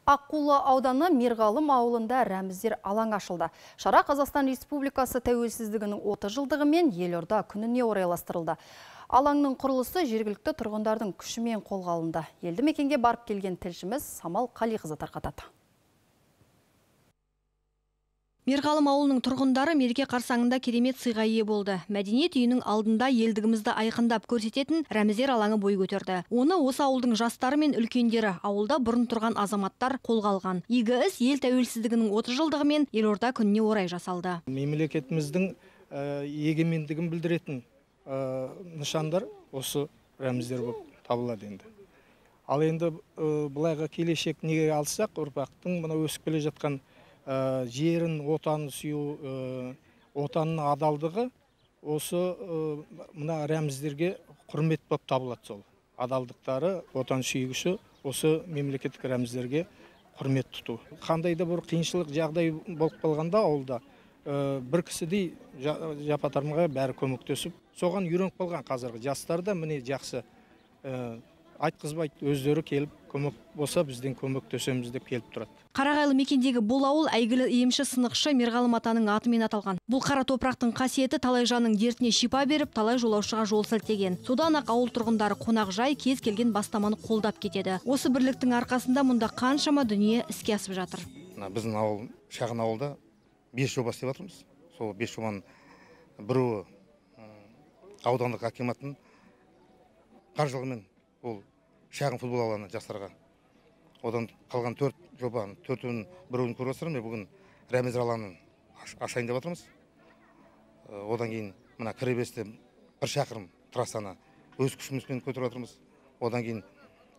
Аққулы ауданы Мерғалым ауылында рәміздер алаң ашылды. Шара Қазақстан Республикасы тәуелсіздігінің 30 жылдығы мен елорда күніне орайластырылды. Алаңның құрылысы жергілікті тұрғындардың күшімен қолға алынды. Елді мекенге барып келген тілшіміз Самал Қалиқызы тарқатады. Мерғалым ауылының тұрғындары мереке қарсаңында керемет сыйға ие болды. Мәдениет үйінің алдында елдігімізді айқындап көрсететін рәміздер алаңы бой көтерді. Оны осы ауылдың жастары мен үлкендері, ауылда бұрын тұрған азаматтар қолға алған. Игі іс ел тәуелсіздігінің 30 жылдығы мен елорда күніне орай жасалды. Мемлекетіміздің егемендігін білдіретін нышандар осы рәміздер болып табылады енді. Ал енді бұлайға келешек неге алсақ, ұрпақтың мына өсіп келе жатқан жерін, отанын сүю, отанның адалдығы осы мына рәміздерге құрмет болып табылады. Сол адалдықтары, отан сүйгіші осы мемлекеттік рәміздерге құрмет тұту. Қандай да бір қиыншылық жағдай болып қалғанда ауылда бір кісідей жапа-тармағай бәрі көмектесіп, соған үйреніп қалған қазіргі жастар да міне жақсы айтқызбайды, өздері келіп көмек болса бізден көмектесеміз деп келіп тұрады. Қарағайлы мекендегі бұл ауыл әйгілі емші сынықшы Мерғалым атаның атымен аталған. Бұл қара топырақтың қасиеті талай жанның дертіне шипа беріп, талай жолаушыға жол сілтеген. Содан ақ ауыл тұрғындары қонақжай кез келген бастаманы қолдап кетеді. Осы бірліктің арқасында мұнда қаншама дүние іске асып жатыр. Біздің ауыл, шағын ауылда 5 жоба істеп жатырмыз. Сол 5 жобаның біреуі аудандық акиматтың қаржылығымен ол шағын футбол алаңы жастарға. Одан қалған 4 жобаның 4-ін біреуін көріп отырмыз. Бүгін рәміздер алаңын ашайын деп жатырмыз. Одан кейін мына кіребесте 1 шақырым трассаны өз күшімізбен көтеріп жатырмыз. Одан кейін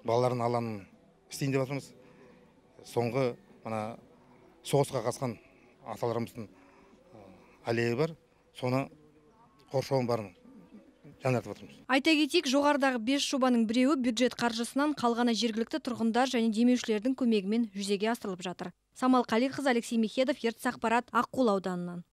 балалардың алаңын істейін деп жатырмыз. Соңғы мына соғысқа қатысқан аталарымыздың аллея бар. Соны қоршауын барын жаңартып отырмыз. Айта кетейік, жоғарыдағы 5 жобаның біреуі бюджет қаржысынан, қалғаны жергілікті тұрғындар және демеушілердің көмегімен жүзеге асырылып жатыр. Самал Қалиқызы, Алексей Михедов, ертіс ақпарат, Аққулы ауданынан.